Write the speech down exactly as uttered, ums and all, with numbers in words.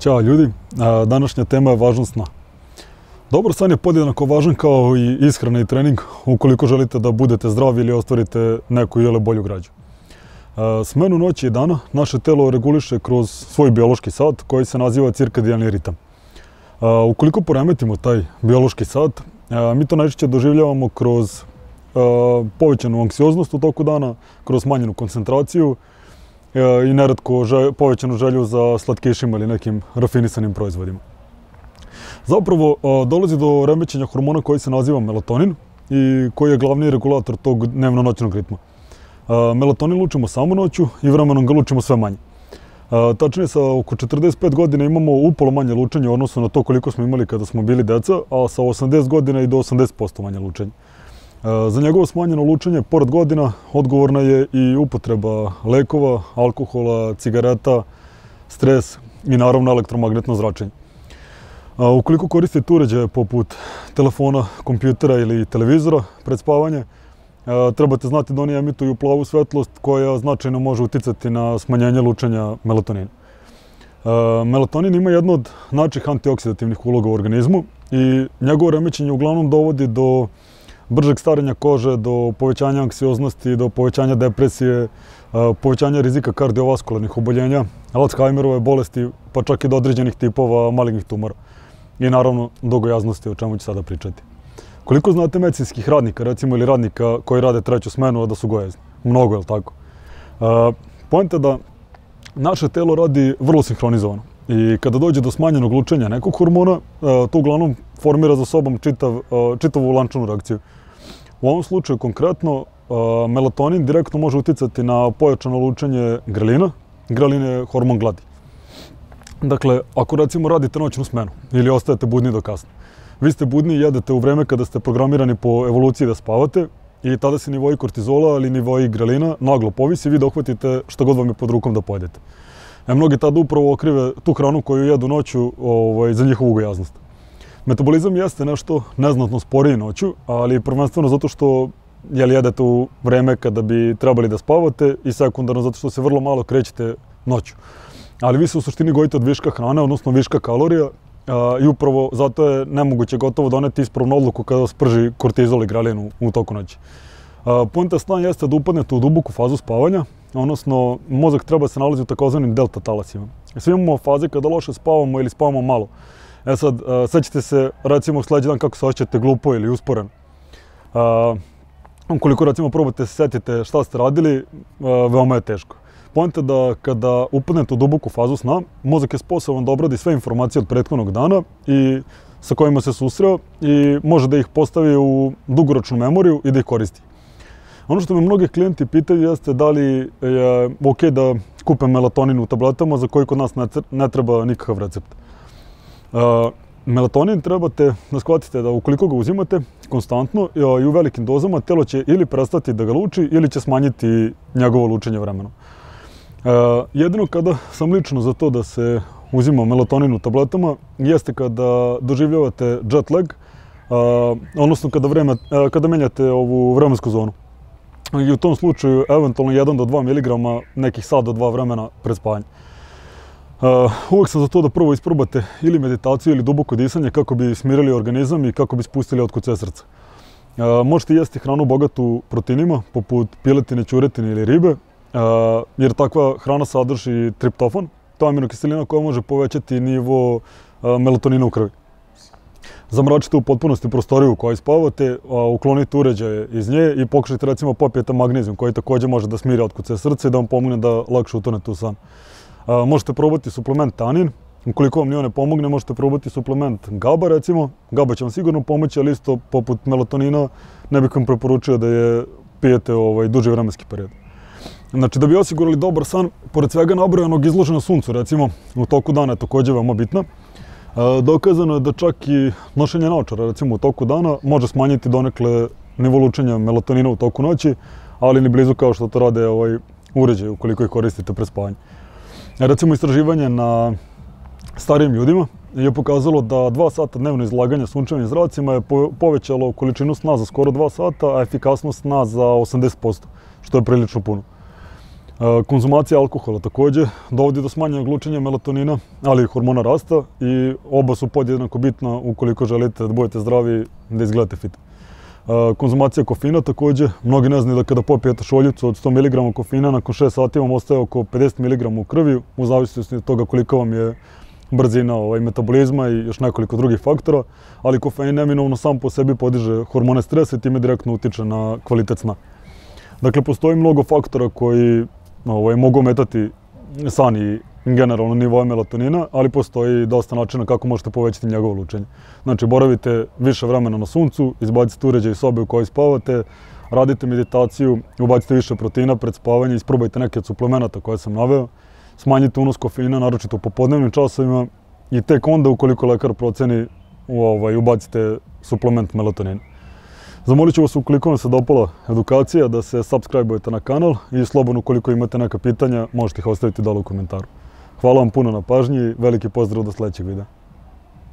Ćao ljudi, današnja tema je važnost sna. Dobar san je podjednako važan kao i ishrana i trening ukoliko želite da budete zdravi ili ostvarite neku ili bolju građu. Smenu noći i dana naše telo reguliše kroz svoj biološki sat koji se naziva cirkadijalni ritam. Ukoliko poremetimo taj biološki sat, mi to najčešće doživljavamo kroz povećanu anksioznost u toku dana, kroz smanjenu koncentraciju i neretko povećanu želju za slatkišima ili nekim rafinisanim proizvodima. Zapravo dolazi do remećenja hormona koji se naziva melatonin i koji je glavni regulator tog dnevno-noćnog ritma. Melatonin lučimo samo noću i vremenom ga lučimo sve manje. Tačnije, sa oko četrdeset pet godina imamo upolo manje lučenje u odnosu na to koliko smo imali kada smo bili deca, a sa osamdeset godina i do osamdeset posto manje lučenje. Za njegovo smanjeno lučenje, pored godina, odgovorna je i upotreba lekova, alkohola, cigareta, stres i naravno elektromagnetno zračenje. Ukoliko koristite uređaje poput telefona, kompjutera ili televizora pred spavanje, trebate znati da oni emituju plavu svetlost koja značajno može uticati na smanjenje lučenja melatonina. Melatonin ima jednu od najčešćih antioksidativnih uloga u organizmu i njegovo remećenje uglavnom dovodi do bržeg starenja kože, do povećanja anksioznosti, do povećanja depresije, povećanja rizika kardiovaskularnih oboljenja, Alzheimerove bolesti, pa čak i do određenih tipova malignih tumora. I naravno do gojaznosti, o čemu ću sada pričati. Koliko znate medicinskih radnika, recimo, ili radnika koji rade treću smenu, a da su gojazni? Mnogo, je li tako? Poenta je da naše telo radi vrlo sinhronizovano i kada dođe do smanjenog lučenja nekog hormona, to uglavnom formira za sobom čitav, čitavu lančanu reakciju. U ovom slučaju konkretno, melatonin direktno može uticati na pojačano lučenje grelina. Grelin je hormon gladi. Dakle, ako recimo radite noćnu smenu ili ostajete budni do kasno, vi ste budni i jedete u vreme kada ste programirani po evoluciji da spavate i tada se nivoji kortizola ili nivoji grelina naglo povisi i vi dohvatite što god vam je pod rukom da pojedete. E, mnogi tada upravo okrive tu hranu koju jedu noću ovaj, za njihovu gojaznost. Metabolizam jeste nešto neznatno sporiji noću, ali prvenstveno zato što jel, jedete u vreme kada bi trebali da spavate i sekundarno zato što se vrlo malo krećete noću. Ali vi se u suštini gojite od viška hrane, odnosno viška kalorija a, i upravo zato je nemoguće gotovo doneti ispravnu odluku kada vas prži kortizol i grelin u, u toku noći. Poenta sna jeste da upadnete u duboku fazu spavanja, odnosno mozak treba se nalazi u takozvanim delta talasima. Svi imamo faze kada loše spavamo ili spavamo malo. E sad, sećate se recimo sledeći dan kako se osjećate glupo ili usporeno. Ukoliko recimo probate se setite šta ste radili, veoma je teško. Poenta je da kada upadnete u duboku fazu sna, mozak je sposoban da obradi sve informacije od prethodnog dana i sa kojima se susreo i može da ih postavi u dugoročnu memoriju i da ih koristi. Ono što me mnogi klijenti pitaju jeste da li je ok da kupe melatonin u tabletama za koji kod nas ne treba nikakav recept. Melatonin trebate da shvatite da ukoliko ga uzimate konstantno i u velikim dozama, telo će ili prestati da ga luči ili će smanjiti njegovo lučenje vremenom. Jedino kada sam lično za to da se uzima melatonin u tabletama jeste kada doživljavate jet lag, odnosno kada, vreme, kada menjate ovu vremensku zonu. I u tom slučaju eventualno jedan do dva miligrama nekih sat do dva vremena pred spavanje. Uvijek sam za to da prvo isprobate ili meditaciju ili duboko disanje kako bi smirili organizam i kako bi spustili otkucaje srca. Možete jesti hranu bogatu proteinima poput piletine, ćuretine ili ribe, jer takva hrana sadrži triptofan, to je aminokiselina koja može povećati nivo melatonina u krvi. Zamračite u potpunosti prostoriju u kojoj spavate, uklonite uređaje iz nje i pokušajte recimo popijete magnezijum koji također može da smiri otkucaje srca i da vam pomogne da lakše utonete u san. Možete probati suplement tanin, ukoliko vam nije ne pomogne možete probati suplement GABA recimo, GABA će vam sigurno pomoći, ali isto poput melatonina ne bih vam preporučio da je pijete ovaj, duži vremenski period. Znači, da bi osigurali dobar san, pored svega nabrojanog izloženo suncu, recimo, u toku dana je također veoma bitna. Dokazano je da čak i nošenje naočara, recimo, u toku dana može smanjiti donekle nivo lučenja melatonina u toku noći, ali ni blizu kao što to rade ovaj, uređaji ukoliko ih koristite pre spavanja. Recimo, istraživanje na starijim ljudima je pokazalo da dva sata dnevno izlaganja sunčevim zracima je povećalo količinu sna za skoro dva sata, a efikasnost sna za osamdeset posto, što je prilično puno. Konzumacija alkohola takođe dovodi do smanjenog lučenja melatonina, ali i hormona rasta i oba su podjednako bitna ukoliko želite da budete zdravi, da izgledate fit. Konzumacija kofeina takođe, mnogi ne znaju da kada popijete šoljicu od sto miligrama kofeina, nakon šest sati vam ostaje oko pedeset miligrama u krvi, u zavisnosti od toga koliko vam je brzina ovaj, metabolizma i još nekoliko drugih faktora, ali kofein neminovno sam po sebi podiže hormone stresa i time direktno utiče na kvalitet sna. Dakle, postoji mnogo faktora koji ovaj, mogu ometati san i generalno nivoe melatonina, ali postoji dosta načina kako možete povećati njegovo lučenje. Znači, boravite više vremena na suncu, izbacite uređaj iz sobe u kojoj spavate, radite meditaciju, ubacite više proteina pred spavanje, isprobajte neke od suplemenata koje sam naveo, smanjite unos kofeina, naročito u popodnevnim časovima i tek onda, ukoliko lekar proceni, ovaj, ubacite suplement melatonina. Zamolit ću vas, ukoliko vam se dopala edukacija, da se subscribe-ujete na kanal i slobodno, ukoliko imate neka pitanja, možete ih ostaviti dole u komentaru. Hvala vam puno na pažnji i veliki pozdrav do sledećeg videa.